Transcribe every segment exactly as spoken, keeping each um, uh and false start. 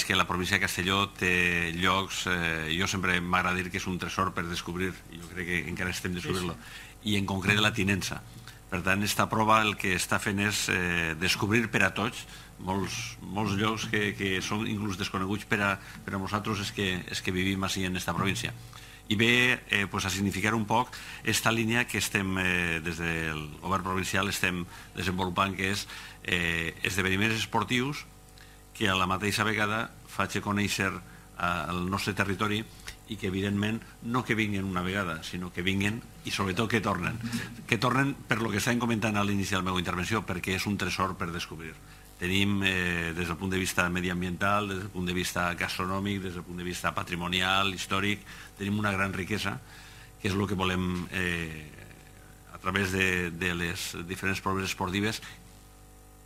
que la província de Castelló té llocs, eh, jo sempre m'agrada dir que és un tresor per descobrir, jo crec que encara estem descobrir-lo, i en concret la Tinença. Per tant, esta prova el que està fent és eh, descobrir per a tots molts, molts llocs que, que són inclús desconeguts per a, per a nosaltres és que, és que vivim així en esta província. I ve eh, pues a significar un poc esta línia que estem, eh, des del govern provincial, estem desenvolupant, que és eh, esdeveniments esportius que a la mateixa vegada faig conèixer al nostre territori i que, evidentment, no que vinguin una vegada, sinó que vinguin i, sobretot, que tornen. Que tornen per lo que estàvem comentant a l'inici de la meva intervenció, perquè és un tresor per descobrir. Tenim, eh, des del punt de vista mediambiental, des del punt de vista gastronòmic, des del punt de vista patrimonial, històric, tenim una gran riquesa, que és el que volem, eh, a través de, de les diferents proves esportives,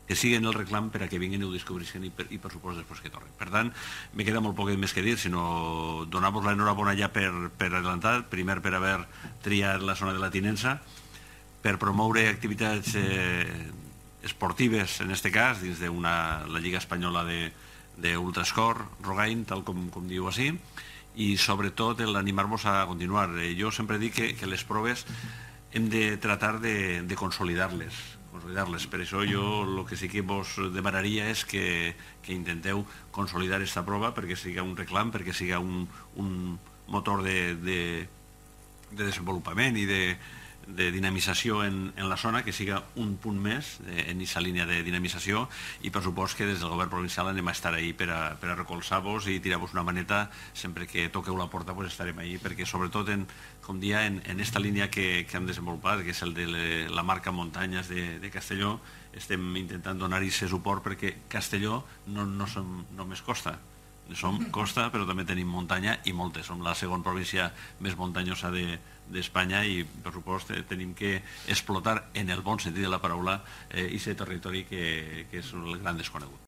que siguin el reclam per a que vinguin i ho descobrissin i, per, i per supost després que tornen. Per tant, me queda molt poc més que dir, sinó donar-vos l'enhorabona ja per, per adelantat, primer per haver triat la zona de la Tinença, per promoure activitats eh, esportives, en aquest cas, dins de una, la Lliga Espanyola d'Ultrascor, Rogain, tal com, com diu així, i sobretot l'animar-vos a continuar. Eh, jo sempre dic que, que les proves hem de tratar de, de consolidar-les, consolidar-les. Per això jo el que sí que vos demanaria és que, que intenteu consolidar aquesta prova perquè siga un reclam, perquè siga un, un motor de, de, de desenvolupament i de, de dinamització en, en la zona, que siga un punt més en aquesta línia de dinamització, i per supost que des del govern provincial anem a estar ahí per a, per a recolzar-vos i tirar-vos una maneta sempre que toqueu la porta, pues estarem ahí, perquè sobretot en, com dia, en, en esta línia que, que hem desenvolupat, que és el de le, la marca Muntanyes de, de Castelló, estem intentant donar-hi aquest suport perquè Castelló no, no som només costa, som costa però també tenim muntanya i moltes, som la segona província més muntanyosa d'Espanya i per supost tenim que explotar en el bon sentit de la paraula aquest territori que, que és el gran desconegut.